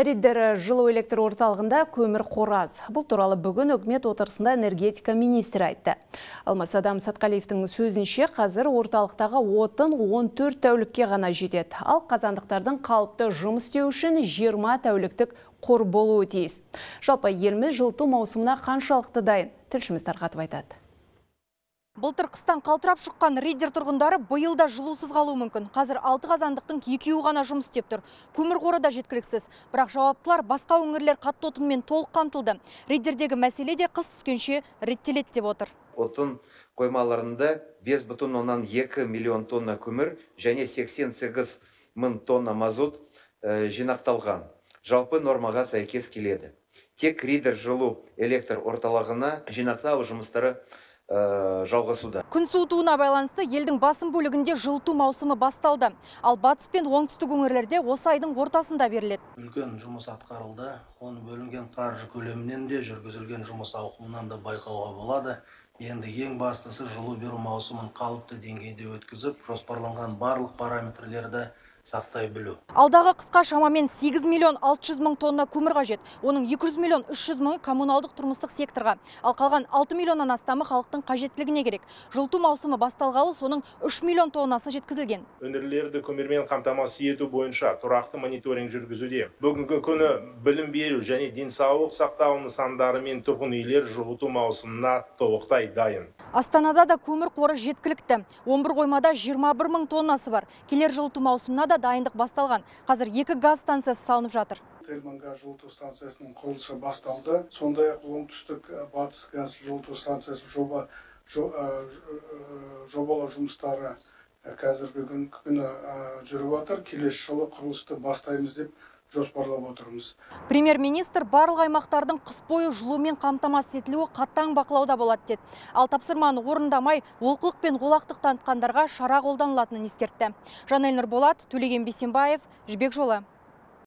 Риддер жылу электр орталығында көмір қораз. Бұл туралы бүгін үкімет отырысында энергетика министрі айтты. Алмас Адам Сатқалиевтің сөзінше қазір орталықтағы отын 14 тәулікке ғана жетеді. Ал қазандықтардың қалыпты жұмыс істеу үшін 20 тәуліктік қор болуы тиіс. Жалпы еліміз жылыту маусымына қаншалықты дайын? Тілшіміз тарқатып айтады. Былтыр қыстан қалтырап шыққан Риддер тұрғындары биылда жылусыз қалуы мүмкін. Қазір 6 қазандықтың 2-і ғана жұмыс істеп тұр. Көмір қоры да жеткіліксіз. Бірақ жауаптылар басқа өңірлер қатты отынмен толық қамтылды. Риддердегі мәселе де қыс түскенше реттеледі деп отыр. Отын қоймаларында 5,2 миллион тонна көмір және 88 мың тонна мазут жинақталған. Жалпы нормаға сәйкес келеді. Тек Риддер жылу электр орталығына жинақтау жұмыстары жалғасуда. Күн суытуына байланысты елдің басым бөлігінде жылыту маусымы басталды. Ал батыс пен оңтүстік өңірлерде осы айдың ортасында беріледі. Үлкен жұмыс атқарылды. Оны бөлінген қаржы көлемінен де жүргізілген жұмыс ауқымынан да байқауға болады. Енді ең бастысы жылу беру маусымын қалыпты деңгейде өткізіп, жоспарланған барлық параметрлерді сақтай білу. Алдағы қысқа шамамен 8 миллион 600 мың тонна көмір қажет. Оның 200 миллион 300 мыңы коммуналдық тұрмыстық секторға. Ал қалған 6 миллионнан астамы халықтың қажеттілігіне керек. Жылыту маусымы басталғалы соның 3 миллион тоннасы жеткізілген. Өңірлерді көмірмен қамтамасыз ету бойынша тұрақты мониторинг жүргізуде. Бүгінгі күні білім беру және денсаулық сақтау нысандары мен тұрғын үйлер жылыту маусымына толықтай дайын. Астанада да көмір қоры жеткілікті. 11 қоймада 21 мың тоннасы бар. Келер жылыту маусымына да дайындық басталған. Қазір 2 газ станциясы салынып жатыр. Термонгаз жылыту станциясының құрылысы басталды. Сондай-ақ оңтүстік батыс газ жылыту станциясы жобалау жұмыстары қазіргі күні жүріп жатыр. Келесі жылы құрылысты бастаймыз деп жоспарлап отырмыз. Премьер-министр барлық аймақтардың қыс бойы жылумен қамтамасыз етілуі қатаң бақылауда болады деді. Ал тапсырманы орындамай, олқылық пен олақтық танытқандарға шара қолданылатынын ескертті. Жанель Нұрболат, Төлеген Бейсенбаев, Жібек жолы.